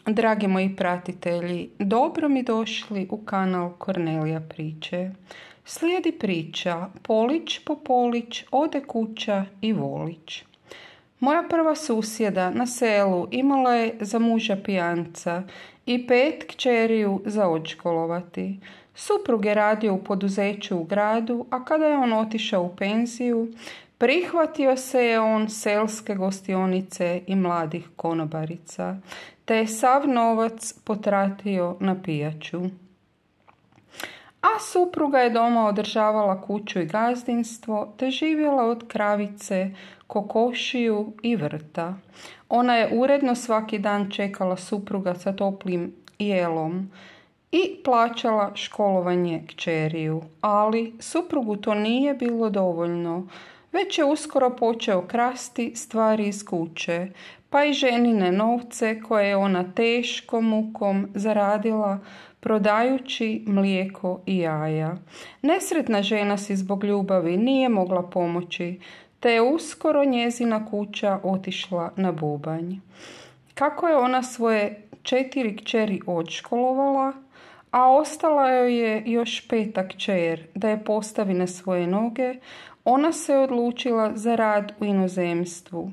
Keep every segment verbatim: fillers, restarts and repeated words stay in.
Dragi moji pratitelji, dobro mi došli u kanal Kornelija priče. Slijedi priča Polić po Polić, ode kuća i volić. Moja prva susjeda na selu imala je za muža pijanca i pet kćeriju za odškolovati. Suprug je radio u poduzeću u gradu, a kada je on otišao u penziju, prihvatio se je on selske gostionice i mladih konobarica, te je sav novac potratio na pijaču. A supruga je doma održavala kuću i gazdinstvo, te živjela od kravice, kokošiju i vrta. Ona je uredno svaki dan čekala supruga sa toplim jelom i plaćala školovanje kćeriju, ali suprugu to nije bilo dovoljno. Već je uskoro počeo krasti stvari iz kuće, pa i ženine novce koje je ona teškom mukom zaradila prodajući mlijeko i jaja. Nesretna žena si zbog ljubavi nije mogla pomoći, te je uskoro njezina kuća otišla na bubanj. Kako je ona svoje četiri kćeri odškolovala, a ostala joj je još peta kćer da je postavi na svoje noge, ona se odlučila za rad u inozemstvu.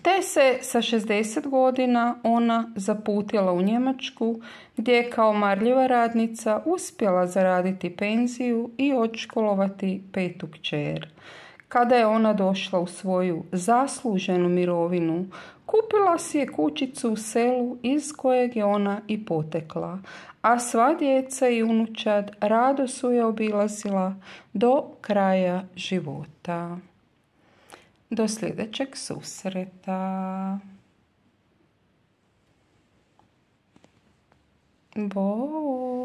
Te se sa šezdeset godina ona zaputila u Njemačku, gdje je kao marljiva radnica uspjela zaraditi penziju i odškolovati petu kćer. Kada je ona došla u svoju zasluženu mirovinu, kupila si je kućicu u selu iz kojeg je ona i potekla, a sva djeca i unučad rado su je obilazila do kraja života. Do sljedećeg susreta. Bog.